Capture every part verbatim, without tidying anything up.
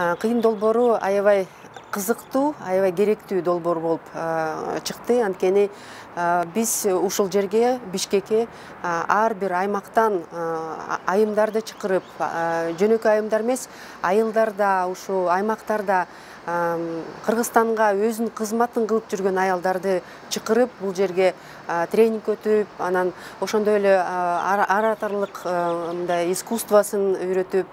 Кыйын долбоору аябай кызыктуу, аябай керектүү долбоор болуп чыкты. Анткени биз ушул жерге, Бишкекке ар бир аймактан айымдарды чакырып, жөнөкөй айымдар эмес, айылдар да, ушу аймактарда Кыргызстанга өзүнүн кызматын кылып жүргөн аялдарды чакырып, бул жерге тренинг өтүп, анан ошондой эле ораторлук мындай искусствосын үйрөтүп,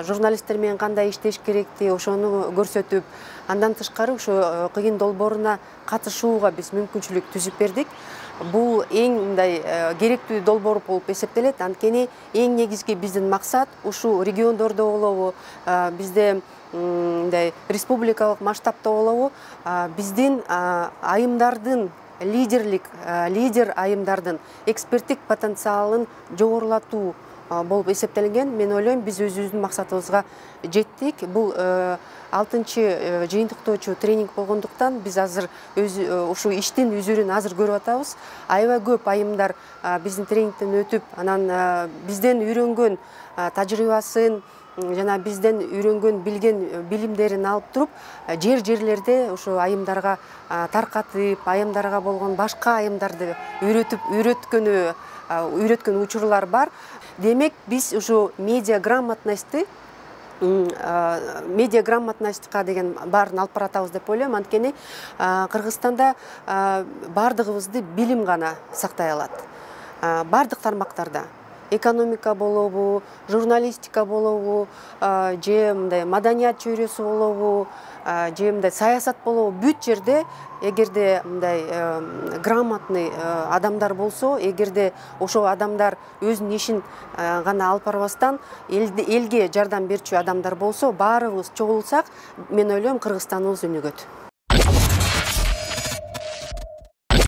журналисттер менен кандай иштеш керекти, ошону көрсөтүп, андан тышкары ушу кыйын долбооруна катышууга биз мүмкүнчүлүк түзүп бердик. Бул эң мындай керектүү долбоор болуп эсептелет. Анткени эң негизги биздин максат ушу региондордо болобу, бизде мындай республикалык масштабта болобу, биздин айымдардын лидерлик, лидер айымдардын эксперттик потенциалын жогорулатуу болуп эсептелинген. Мен ойлойм, биз өзүбүздүн максатыбызга жеттик. Бул алтынчы жыйынтыктоочу тренинг болгондуктан биз азыр ушу иштин үзүрүн азыр көрүп атабыз. Аябай көп айымдар биздин тренингден өтүп, анан бизден үйрөнгөн тажрыйбасын жана бизден үйрөнгөн, билген билимдерин алып туруп, жер-жерлерде ушу айымдарга таркатып, айымдарга болгон башка айымдарды үйрөтүп, үйрөткөнү, үйрөткөн учурлар бар. Демек, биз ушу медиа грамотностьты, медиа грамотностька деген баарын алып баратабыз деп ойлойм. Анткени Кыргызстанда бардыгыбызды билим гана сактай алат. Бардык тармактарда. Экономика болобу, журналистика болобу, же мындай маданият чөйрөсү болобу, же мындай саясат болобу, бүт жерде эгерде мындай грамотный адамдар болсо, эгерде ошол адамдар өзүнүн ишин гана алып барбастан элге жардам берчү адамдар болсо, баарыбыз чогулсак, мен ойлойм, Кыргызстаныбыз өнүгөт.